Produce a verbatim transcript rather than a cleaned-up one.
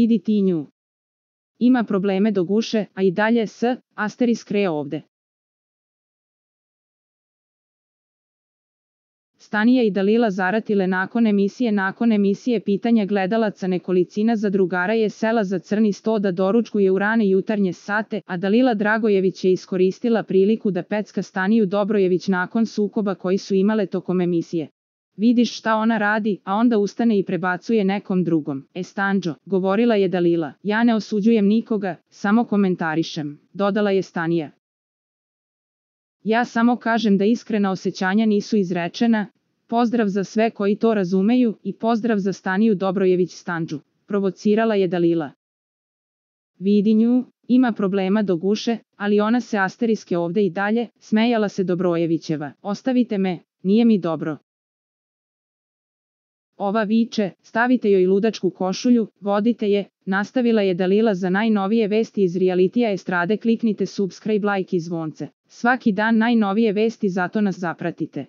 Vidi ti nju. Ima probleme do guše, a i dalje s, asterisk re ovde. Stanija i Dalila zaratile nakon emisije nakon emisije pitanja gledalaca nekolicina zadrugara je sela za crni sto da doručkuje u rane jutarnje sate, a Dalila Dragojević je iskoristila priliku da pecka Staniju Dobrojević nakon sukoba koji su imale tokom emisije. Vidiš šta ona radi, a onda ustane i prebacuje nekom drugom. E Stanđo, govorila je Dalila, ja ne osuđujem nikoga, samo komentarišem, dodala je Stanija. Ja samo kažem da iskrena osjećanja nisu izrečena, pozdrav za sve koji to razumeju i pozdrav za Staniju Dobrojević Stanđu, provocirala je Dalila. Vidi nju, ima problema do guše, ali ona se asteriske ovde i dalje, smejala se Dobrojevićeva, ostavite me, nije mi dobro. Ova viče, stavite joj ludačku košulju, vodite je, nastavila je Dalila za najnovije vesti iz realitija estrade kliknite subscribe like i zvonce. Svaki dan najnovije vesti zato nas zapratite.